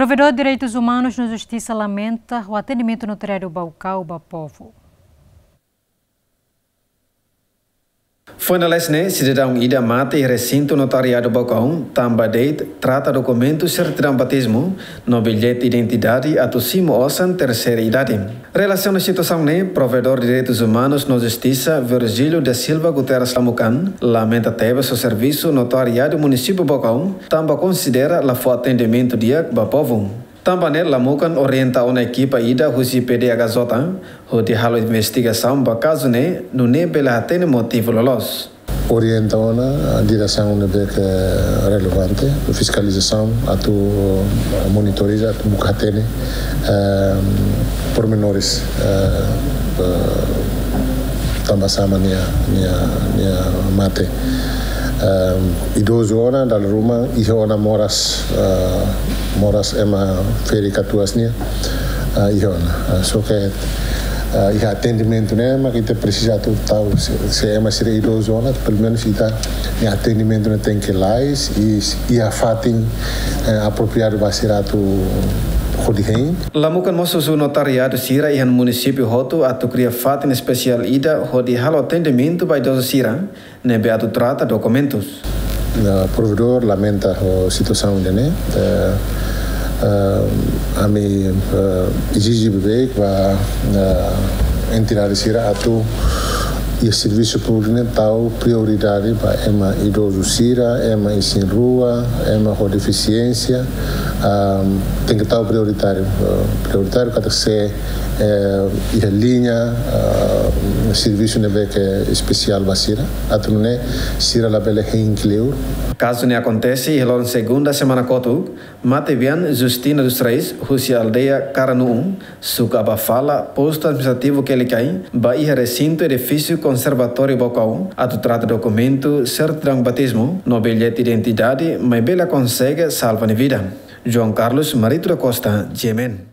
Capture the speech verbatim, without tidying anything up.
Provedór Direitus Umanus no Justisa lamenta ho atendimentu Notariadu Baucau ba povu. Foin lalais ne'e, sidadaun ida mate iha resintu Notariadu Baucau, tanba de'it trata dokumentu sertidaun batizmu no billete identidade atu simu osan terseira idade. Relasiona situasaun ne'e, Provedór Direitus Umanus no Justisa, Virgílio da Silva Guterres Lamucan, lamenta tebes ho servisu Notariadu Munisípiu Baucau, tanba konsidera la fó atendimentu di'ak ba povu. Tanba ne'e, Lamucan orienta ona ekipa ida husi P D H J hodi halo investigasaun ba kazu ne'e, nune'e bele hatene motivu loloos. Orienta ona diresaun ne'ebé ke relevante, fiskalizasaun, atu monitoriza, atu buka hatene, ehm, pormenores, eh, eh, tanba sá mak nia, nia, nia mate. Ehm, idozu ona, dala ruma, iha ona moras, eh, moras ema ferik katuas nian, eh, iha ona. Eh, só ke, eh, iha atendimentu ne'e mak ita presiza atu tau, se, se ema sira idozu ona, pelumenus ita-nia atendimentu ne'e tenke lalais, i, iha fatin, eh, apropriadu ba sira atu hodi hein. Lamucan mós husu notariadu sira iha munisípiu hotu atu kria fatin espesiál ida hodi halo atendimentu ba idozu sira ne'ebé atu trata dokumentus. Eh, Provedór lamenta ho situasaun ida-ne'e. Eh, eh, ami, eh, ezije beibeik ba, eh, entidade sira atu iha servisu públiku ne'e tau prioridade ba ema idozu sira, ema isin-rua, ema ho defisiénsia, ah, tenke tau prioritáriu, eh, prioritáriu katak se, eh, iha liña, eh, servisu ne'ebé ke espesiál ba sira, atu nune'e sira labele hein kleur. Kazu ne'e akontese iha loron segunda semana kotuk, matebian Justina dos Reis, husi aldeia Karanu'u, suku Abafala, postu administrativu Quelicai, ba iha resintu edifísiu Konservatóriu Baucau, atu trata dokumentu sertidaun batizmu no billete identidade, maibé la konsege salva nia vida. João Carlos Marito da Costa, G M N.